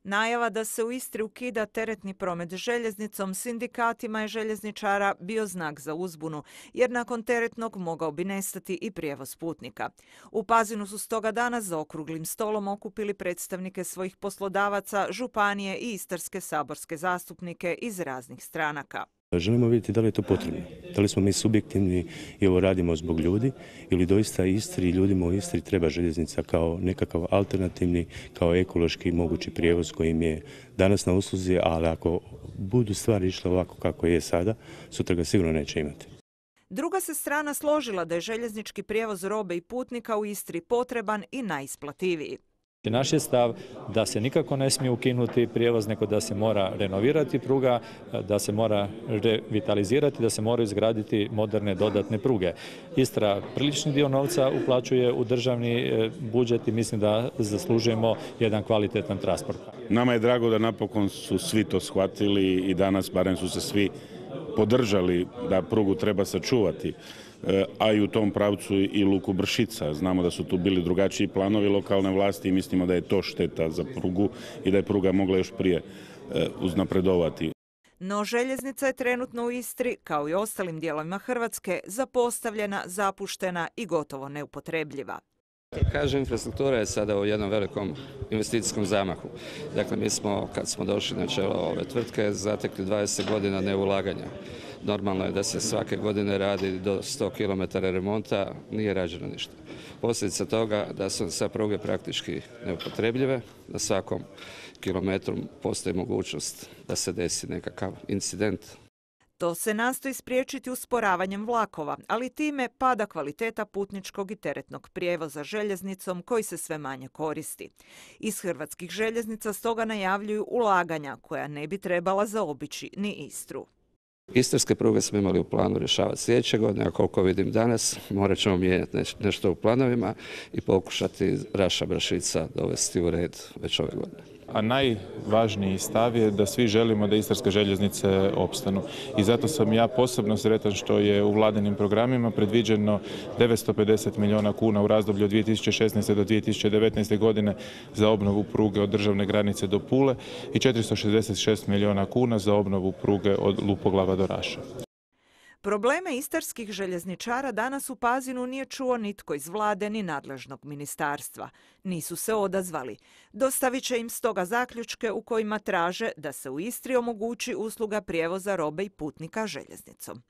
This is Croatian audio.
Najava da se u Istri ukida teretni promet željeznicom sindikatima je željezničara bio znak za uzbunu, jer nakon teretnog mogao bi nestati i prijevoz putnika. U Pazinu su stoga danas za okruglim stolom okupili predstavnike svojih poslodavaca, županije i istarske saborske zastupnike iz raznih stranaka. Želimo vidjeti da li je to potrebno, da li smo mi subjektivni i ovo radimo zbog ljudi ili doista Istri i ljudima u Istri treba željeznica kao nekakav alternativni, kao ekološki mogući prijevoz koji im je danas na usluzi, ali ako budu stvari išle ovako kako je sada, sutra ga sigurno neće imati. Druga se strana složila da je željeznički prijevoz robe i putnika u Istri potreban i najisplativiji. Naš je stav da se nikako ne smije ukinuti prijevoz, nego da se mora renovirati pruga, da se mora revitalizirati, da se moraju izgraditi moderne dodatne pruge. Istra prilični dio novca uplaćuje u državni budžet i mislim da zaslužujemo jedan kvalitetan transport. Nama je drago da napokon su svi to shvatili i danas barem su se svi podržali da prugu treba sačuvati, a i u tom pravcu i luku Bršica. Znamo da su tu bili drugačiji planovi lokalne vlasti i mislimo da je to šteta za prugu i da je pruga mogla još prije uznapredovati. No željeznica je trenutno u Istri, kao i ostalim dijelovima Hrvatske, zapostavljena, zapuštena i gotovo neupotrebljiva. Kažem, infrastruktura je sada u jednom velikom investicijskom zamahu. Dakle, mi smo, kad smo došli na čelo ove tvrtke, zatekli 20 godina neulaganja. Normalno je da se svake godine radi do 100 km remonta, nije rađeno ništa. Posljedica toga da su sve pruge praktički neupotrebljive, na svakom kilometru postoji mogućnost da se desi nekakav incident. To se nastoji spriječiti usporavanjem vlakova, ali time pada kvaliteta putničkog i teretnog prijevoza željeznicom koji se sve manje koristi. Iz hrvatskih željeznica stoga najavljuju ulaganja koja ne bi trebala zaobići ni Istru. Istarske pruge smo imali u planu rješavati sljedeće godine, a koliko vidim danas, morat ćemo mijenjati nešto u planovima i pokušati Raša Bršica dovesti u red već ove godine. A najvažniji stav je da svi želimo da istarske željeznice opstanu. I zato sam ja posebno sretan što je u vladinim programima predviđeno 950 milijuna kuna u razdoblju od 2016. do 2019. godine za obnovu pruge od državne granice do Pule i 466 milijuna kuna za obnovu pruge od Lupoglava do Raša. Probleme istarskih željezničara danas u Pazinu nije čuo nitko iz vlade ni nadležnog ministarstva. Nisu se odazvali. Dostavit će im stoga zaključke u kojima traže da se u Istri omogući usluga prijevoza robe i putnika željeznicom.